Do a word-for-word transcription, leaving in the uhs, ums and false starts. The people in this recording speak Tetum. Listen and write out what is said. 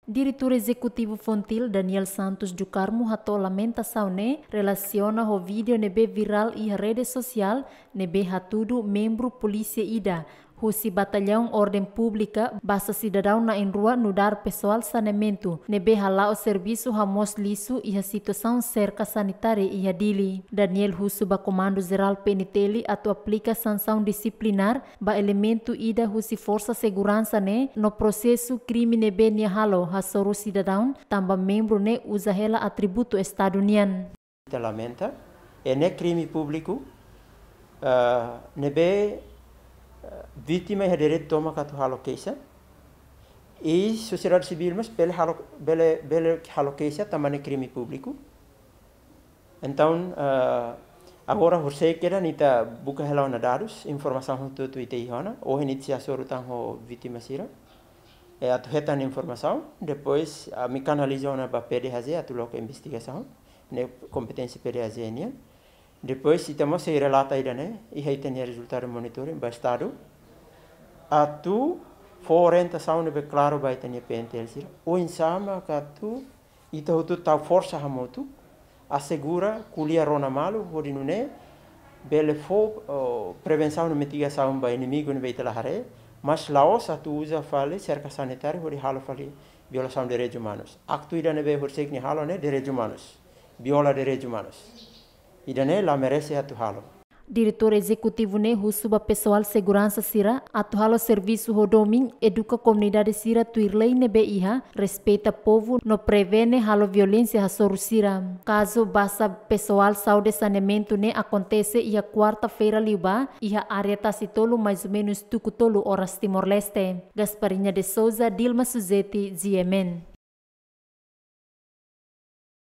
Diretór Ezekutivu Fontil, Daniel Santos do Carmo, hato'o lamentasaun ne'e relasiona ho vídeo ne'ebé virál iha rede sosiál ne'ebé hatudu membru polísia ida husi Batallaun Orden Públika basa sidadaun na'in-rua nu'udar pesoál saneamentu ne'ebé hala'o servisu hamoos lixu iha situasaun serka sanitária iha Dili. Daniel husu ba Komandu Jerál P N T L atu aplika sansaun disiplinár ba elementu ida husi forsa seguransa ne'e no prosesa krime ne'ebé nia halo hasoru sidadaun, tanba membru ne'e uza hela atributu Estadu nian. Ita lamenta, i ne'e krime públiku, ah, ne'ebé, ah, vítima iha direitu tomak atu halo keixa. I sosiedade sivíl mós bele halo, bele, bele halo keixa tanba ne'e krime públiku. Entaun, ah, agora horisehik kedas ita buka hela ona dadus, informasaun hotu-hotu ita iha ona, ohin ita sei hasoru tan ho vítima sira. I atu hetan informasaun, depois ami kanaliza ona ba P D H J atu loke investigasaun, ne'e kompeténsia P D H J nian. Depois ita mós sei relata ida-ne'e, iha ita-nia rezultadu monitoring ba Estadu. Atu fó orientasaun ne'ebé klaru ba ita-nia P N T L sira. Oinsá mak atu ita hotu tau forsa hamutuk, asegura ko'alia rona malu, hodi nune'e bele fó, oh, prevensaun no mitigasaun ba inimigu ne'ebé ita la haree, mas la'ós atu uza fali serka sanitária hodi halo fali violasaun direitus umanus. Aktu ida ne'ebé horisehik nia halo ne'e direitus umanus, viola direitus umanus. Ida-ne'e la merese atu halo. Diretór Ezekutivu ne'e husu ba pesoál seguransa sira atu halo servisu ho domin, eduka komunidade sira tuir lei ne'ebé iha, respeita povu no prevene halo violénsia hasoru sira. Kazu basa pesoál saúde saneamentu ne'e akontese iha kuarta-feira liubá, iha área Tasi Tolu, mais ou menus tuku tolu oras Timor-Leste. Gasparinha de Souza, Dilma Suzeti, G M N.